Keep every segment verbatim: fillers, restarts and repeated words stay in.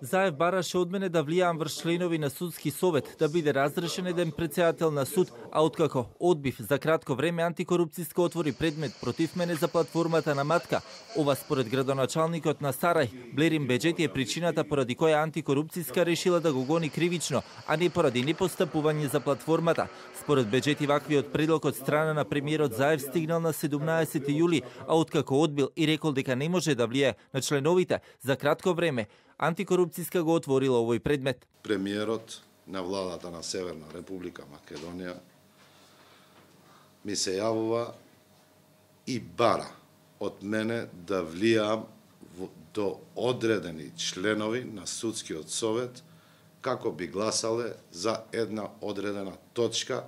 Заев бараше од мене да влијам врз членови на судски совет, да биде разрешен еден председател на суд, а откако одбив за кратко време антикорупцијска отвори предмет против мене за платформата на Матка. Ова според градоначалникот на Сарај, Блерин Беџети е причината поради која антикорупцијска решила да го гони кривично, а не поради непостапување за платформата. Според Беџети ваквиот предлог од страна на премиерот Заев стигнал на седумнаесети јули, а откако одбил и рекол дека не може да влијае на членовите за кратко време, антикорупцијска го отворила овој предмет. Премиерот на владата на Северна Република Македонија ми се јавува и бара од мене да влијам до одредени членови на судскиот совет како би гласале за една одредена точка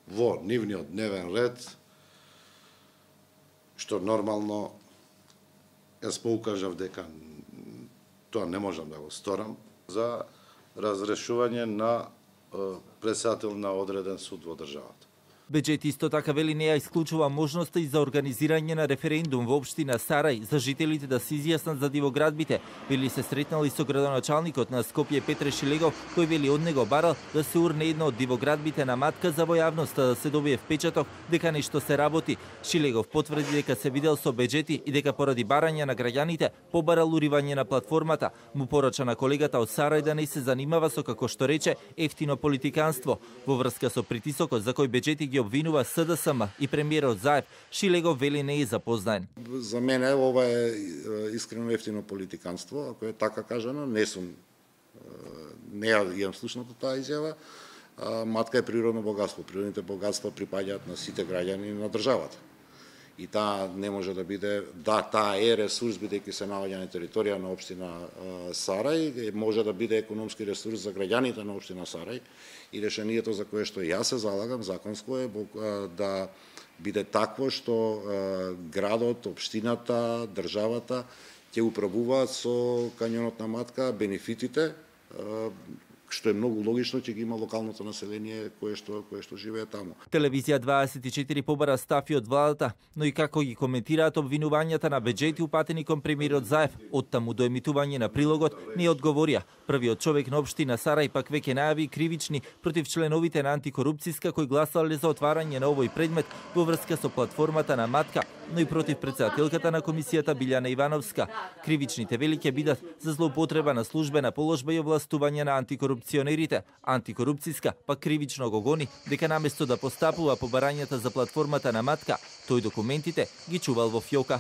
во нивниот дневен ред, што нормално јас поукажав дека тоа не можам да го сторам, за разрешување на председател на одреден суд во државата. Беџети исто така вели не ја исклучува можноста и за организирање на референдум во општина Сарај за жителите да се изјаснат за дивоградбите. Вели се сретнали со градоначалникот на Скопје Петре Шилегов, кој вели од него барал да се урне едно од дивоградбите на Матка за во јавноста да се добие впечаток дека нешто се работи. Шилегов потврди дека се видел со Беџети и дека поради барање на граѓаните побарал уривање на платформата. Му порача на колегата од Сарај да не се занимава со, како што рече, ефтино политиканство. Во врска со притисокот за кој Беџети ги обвинува СДСМ и премиерот Заев, Шилегов вели не е запознаен. За мене ова е искрено ефтино политиканство, ако е така кажано, не сум не ја имам слушнато таа изјава. Матка е природно богатство. Природните богатства припаѓаат на сите граѓани на државата. И таа не може да биде, да, таа е ресурс, бидејќи се наоѓа на територија на општина Сарај, може да биде економски ресурс за граѓаните на општина Сарај, и решението за кое што јас се залагам законско е да биде такво што градот, општината, државата ќе управуваат со кањонот на Матка бенефитите, што е многу логично, ќе ги има локалното население кое што кое што живее таму. Телевизија дваесет и четири побара стафи од владата, но и како ги коментираат обвинувањата на Беџети упатени кон премиерот Заев. Оттаму до емитување на прилогот не одговорија. Првиот човек на општина Сарај пак веќе најави кривични против членовите на антикорупцијска кои гласале за отварање на овој предмет во врска со платформата на Матка, но и против претседателката на комисијата Билјана Ивановска. Кривичните вели ќе бидат за злоупотреба на службена положба и овластување на антикорупционерите. Антикорупцијска пак кривично го гони дека наместо да постапува по барањата за платформата на Матка, тој документите ги чувал во фјока.